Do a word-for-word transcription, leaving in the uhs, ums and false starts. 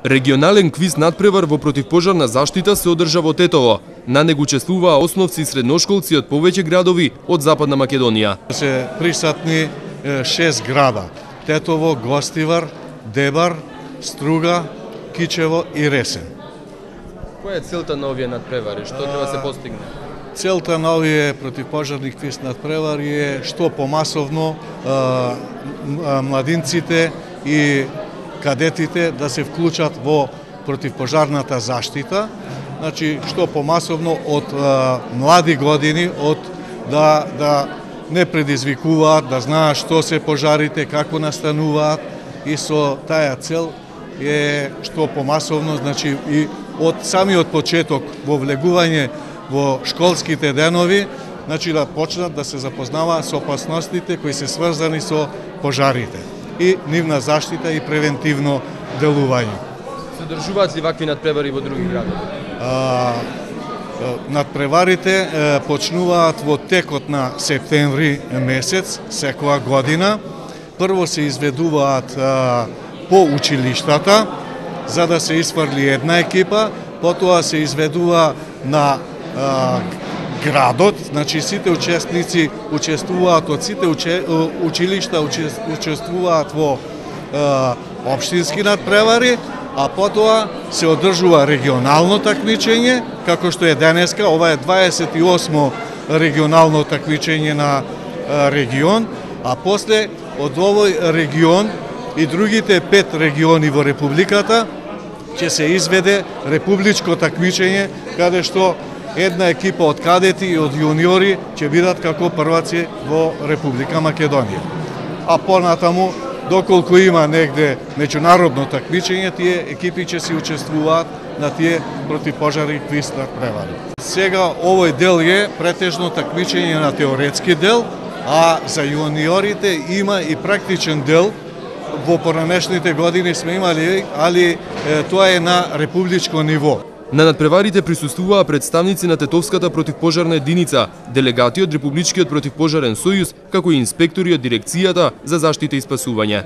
Регионален квиз надпревар во противпожарна заштита се одржа во Тетово. На него учествуваа основци и средношколци од повеќе градови од Западна Македонија. Се присутни шест града: Тетово, Гостивар, Дебар, Струга, Кичево и Ресен. Која е целта на овие надпревари? Што треба се постигне? Целта на овие противпожарни квиз надпревари е што помасовно а, младинците и кадетите да се вклучат во противпожарната заштита. Значи, што помасовно од а, млади години, од да, да не предизвикуваат, да знаат што се пожарите, како настануваат, и со таа цел е што помасовно, значи и од самиот почеток во влегување во школските денови, значи да почнат да се запознаваат со опасностите кои се сврзани со пожарите и нивна заштита и превентивно делување. Се одржуваат ли вакви надпревари во други градови? А, надпреварите е, почнуваат во текот на септември месец секоја година. Прво се изведуваат а, по училиштата за да се исфрли една екипа, потоа се изведува на а, градот, значи сите учесници учествуваат од сите уче, училишта учествуваат во а, општински надпревари, а потоа се одржува регионално такмичење, како што е денеска. Ова е дваесет и осмо регионално такмичење на а, регион, а после од овој регион и другите пет региони во Републиката ќе се изведе републичко такмичење, каде што една екипа од кадети и од јуниори ќе бидат како прваци во Република Македонија. А понатаму, доколку има негде меѓународно такмичење, тие екипи ќе се учествуваат на тие противпожарни квиз надпревари. Сега овој дел е претежно такмичење на теоретски дел, а за јуниорите има и практичен дел. Во поранешните години сме имали, али е, тоа е на републичко ниво. На надпреварите присуствуваа представници на Тетовската противпожарна единица, делегати од Републичкиот противпожарен сојуз, како и инспектори од дирекцијата за заштита и спасување.